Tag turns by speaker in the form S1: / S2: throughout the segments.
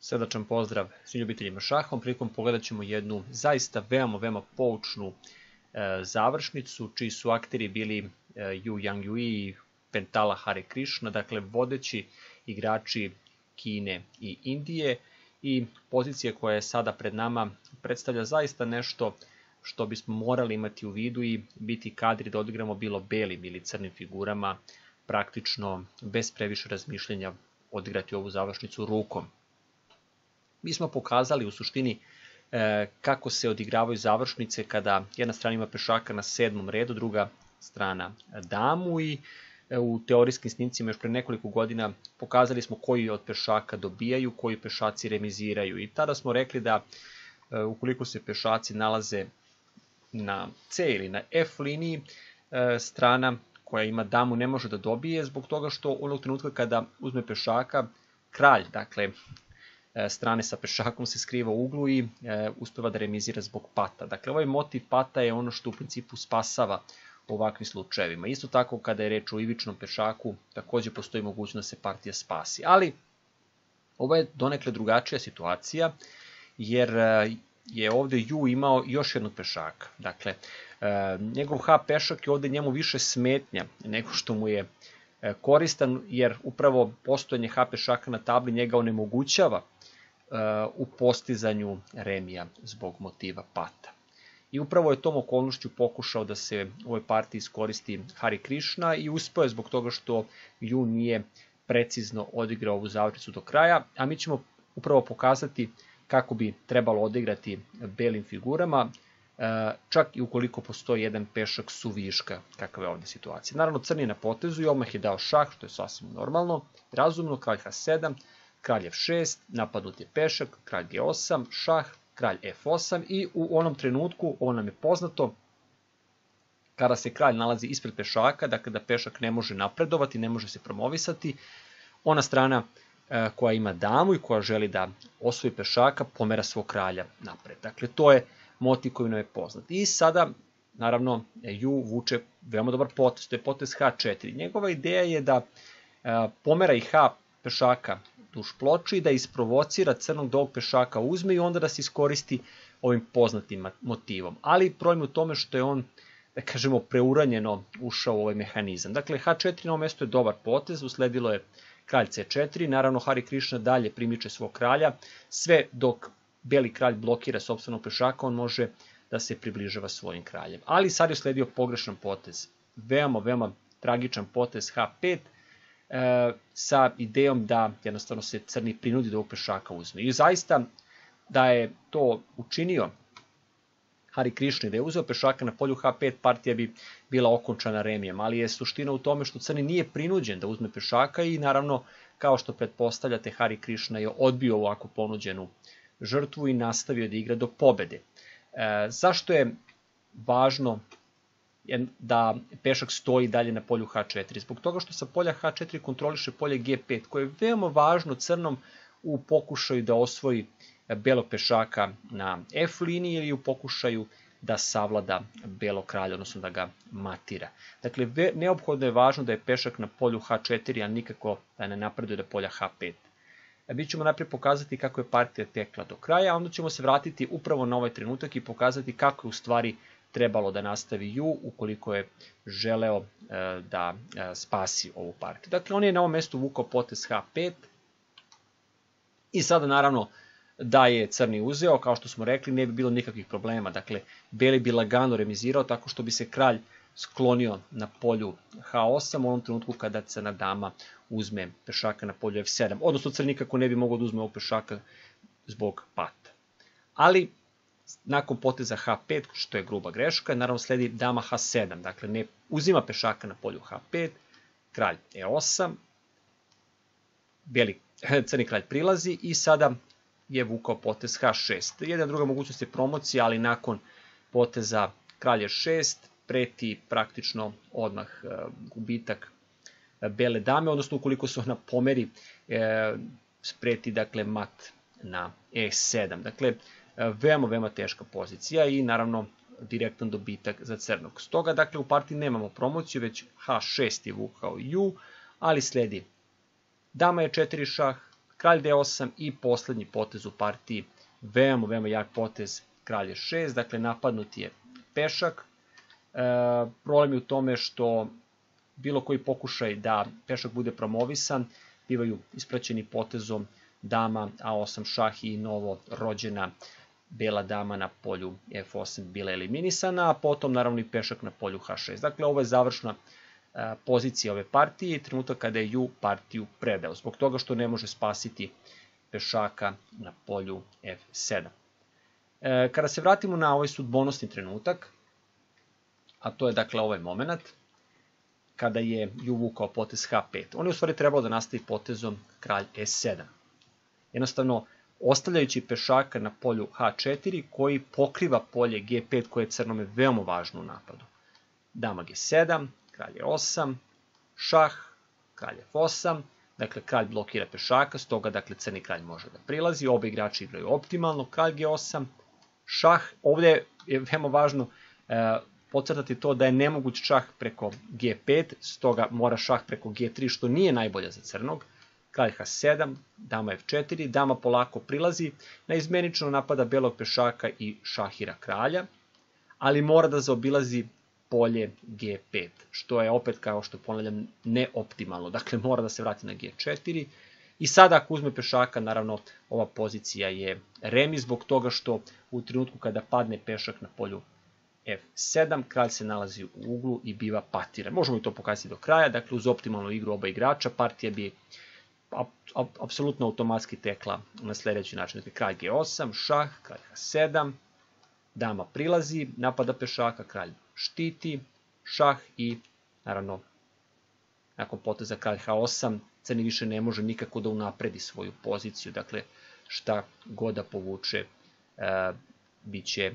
S1: Srdačan pozdrav svim ljubiteljima šaha. Prilikom pogledat ćemo jednu zaista veoma poučnu završnicu, čiji su akteri bili Yu Yangyue i Pentala Hare Krishna, dakle vodeći igrači Kine i Indije, i pozicija koja je sada pred nama predstavlja zaista nešto što bismo morali imati u vidu i biti kadri da odigramo bilo belim ili crnim figurama, praktično bez previše razmišljenja odigrati ovu završnicu rukom. Mi smo pokazali u suštini kako se odigravaju završnice kada jedna strana ima pešaka na 7. redu, druga strana damu, i u teorijskim snimcima još pre nekoliko godina pokazali smo koji od pešaka dobijaju, koji pešaci remiziraju, i tada smo rekli da ukoliko se pešaci nalaze na C ili na F liniji, strana koja ima damu ne može da dobije, zbog toga što onog trenutka kada uzme pešaka, kralj, dakle strane sa pešakom, se skriva u uglu i uspeva da remizira zbog pata. Dakle, ovaj motiv pata je ono što u principu spasava u ovakvim slučajevima. Isto tako kada je reč o ivičnom pešaku, takođe postoji mogućnost da se partija spasi. Ali ovo je donekle drugačija situacija, jer je ovde Yu imao još jednog pešaka. Dakle, njegov H pešak je ovde njemu više smetnja nego što mu je koristan, jer upravo postojanje H pešaka na tabli njega onemogućava u postizanju remija zbog motiva pata. I upravo je tom okolnošću pokušao da se u ovoj partiji iskoristi Hare Krishna i uspeo je zbog toga što Yu nije precizno odigrao ovu završnicu do kraja, a mi ćemo upravo pokazati kako bi trebalo odigrati belim figurama, čak i ukoliko postoji jedan pešak suviška, kakva je ovdje situacija. Naravno, crni je na potezu i odmah je dao šah, što je sasvim normalno, razumno, kralj H7, kralj F6, napadnut je pešak, kralj G8, šah, kralj F8, i u onom trenutku, ovo nam je poznato, kada se kralj nalazi ispred pešaka, dakle da pešak ne može napredovati, ne može se promovisati, ona strana koja ima damu i koja želi da osvoji pešaka pomera svog kralja napred. Dakle, to je motiv koji nam je poznat. I sada, naravno, Yu vuče veoma dobar potez, to je potez H4. Njegova ideja je da pomera i H pešaka duž ploče i da isprovocira crnog da ovog pešaka uzme i onda da se iskoristi ovim poznatim motivom. Ali problem u tome što je on, da kažemo, preuranjeno ušao u ovaj mehanizam. Dakle, H4 na ovom mjestu je dobar potez, usledilo je kralj C4, naravno Hare Krishna dalje primiče svog kralja, sve dok beli kralj blokira sopstvenog pešaka, on može da se približava svojim kraljem. Ali sad je usledio pogrešan potez, veoma tragičan potez H5, sa idejom da jednostavno se crni prinudi da ovog pešaka uzme. I zaista da je to učinio Hare Krishna, da je uzeo pešaka na polju H5, partija bi bila okončana remijem, ali je suština u tome što crni nije prinuđen da uzme pešaka i naravno, kao što pretpostavljate, Hare Krishna je odbio ovako ponuđenu žrtvu i nastavio da igra do pobede. Zašto je važno da pešak stoji dalje na polju H4? Zbog toga što sa polja H4 kontroliše polje G5, koje je veoma važno crnom u pokušaju da osvoji belog pešaka na F liniji ili u pokušaju da savlada belog kralja, odnosno da ga matira. Dakle, neophodno je važno da je pešak na polju H4, a nikako da ne napreduje do polja H5. Mi ćemo najprije pokazati kako je partija tekla do kraja, a onda ćemo se vratiti upravo na ovaj trenutak i pokazati kako je u stvari trebalo da nastavi Yu ukoliko je želeo da spasi ovu partiju. Dakle, on je na ovom mjestu vukao potez H5 i sada naravno da je crni uzeo, kao što smo rekli, ne bi bilo nikakvih problema. Dakle, beli bi lagano remizirao tako što bi se kralj sklonio na polju H8 u onom trenutku kada crna dama uzme pešaka na polju F7. Odnosno, crni nikako ne bi mogao da uzme ovog pešaka zbog pata. Ali, nakon poteza H5, što je gruba greška, naravno sledi dama H7. Dakle, ne uzima pešaka na polju H5, kralj E8, crni kralj prilazi i sada je vukao potez H6. Jedna druga mogućnost je promocija, ali nakon poteza kralj E6 preti praktično odmah gubitak bele dame, odnosno ukoliko se ona pomeri, preti dakle mat na E7. Dakle, veoma teška pozicija i naravno direktan dobitak za crnog. Stoga, dakle, u partiji nemamo promociju, već H6 je vukao Yu, ali sledi dama E4 šah, kralj d8 i poslednji potez u partiji, veoma jak potez, kralj e6, dakle napadnut je pešak. Problem je u tome što bilo koji pokušaj da pešak bude promovisan, bivaju ispraćeni potezom dama a8 šah i novo rođena bela dama na polju f8 bila eliminisana, a potom naravno i pešak na polju h6. Dakle, ovo je završna pozicija ove partije i trenutak kada je ju partiju predao, zbog toga što ne može spasiti pešaka na polju f7. Kada se vratimo na ovaj sudbonosni trenutak, a to je dakle ovaj moment, kada je ju vukao potez h5, on je u stvari trebalo da nastavi potezom kralj e7. Jednostavno, ostavljajući pešaka na polju h4 koji pokriva polje g5 koje je crnome veoma važno u napadu. Dama g7, kralj e8, šah, kralj f8, dakle kralj blokira pešaka, stoga dakle crni kralj može da prilazi, oba igrači igraju optimalno, kralj g8, šah, ovdje je veoma važno podcrtati to da je nemoguć šah preko g5, stoga mora šah preko g3 što nije najbolje za crnog, kralj h7, dama f4, dama polako prilazi, naizmenično napada belog pešaka i šahira kralja, ali mora da zaobilazi polje g5, što je opet, kao što ponavljam, neoptimalno. Dakle, mora da se vrati na g4 i sada ako uzme pešaka, naravno, ova pozicija je remi zbog toga što u trenutku kada padne pešak na polju f7, kralj se nalazi u uglu i biva patiran. Možemo i to pokazati do kraja, dakle, uz optimalnu igru oba igrača, partija bi apsolutno automatski tekla na sljedeći način. Dakle, kralj g8, šah, kralj h7, dama prilazi, napada pešaka, kralj štiti, šah i naravno nakon poteza kralj h8 crni više ne može nikako da unapredi svoju poziciju, dakle šta god da povuče bit će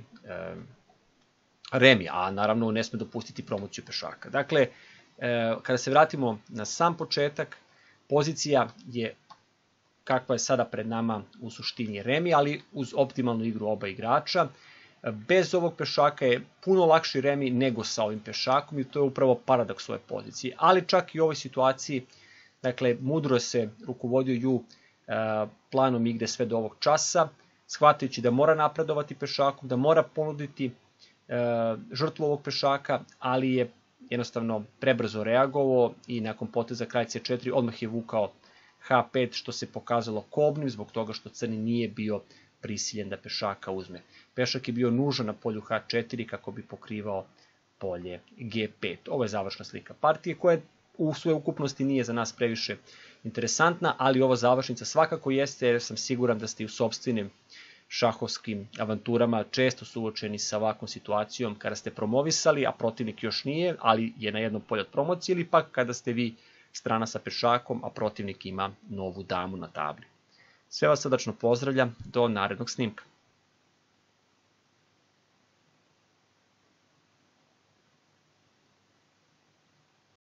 S1: remi, a naravno ne sme dopustiti promociju pešaka. Dakle, kada se vratimo na sam početak, pozicija je kakva je sada pred nama u suštini remi, ali uz optimalnu igru oba igrača. Bez ovog pešaka je puno lakši remi nego sa ovim pešakom i to je upravo paradoks ove pozicije. Ali čak i u ovoj situaciji, dakle, mudro se rukovodio ju planom igre sve do ovog časa, shvatajući da mora napredovati pešakom, da mora ponuditi žrtvu ovog pešaka, ali je jednostavno prebrzo reagovao i nakon poteza kralj c4 odmah je vukao h5, što se pokazalo kobnim zbog toga što crni nije bio prisiljen da pešaka uzme. Pešak je bio nužan na polju h4 kako bi pokrivao polje g5. Ovo je završna slika partije koja u svojoj ukupnosti nije za nas previše interesantna, ali ova završnica svakako jeste jer sam siguran da ste i u sopstvenim šahovskim avanturama često suočeni sa ovakvom situacijom kada ste promovisali, a protivnik još nije, ali je na jednom polju od promocije, ili pak kada ste vi strana sa pešakom, a protivnik ima novu damu na tabli. Sve vas srdačno pozdravljam, do narednog snimka.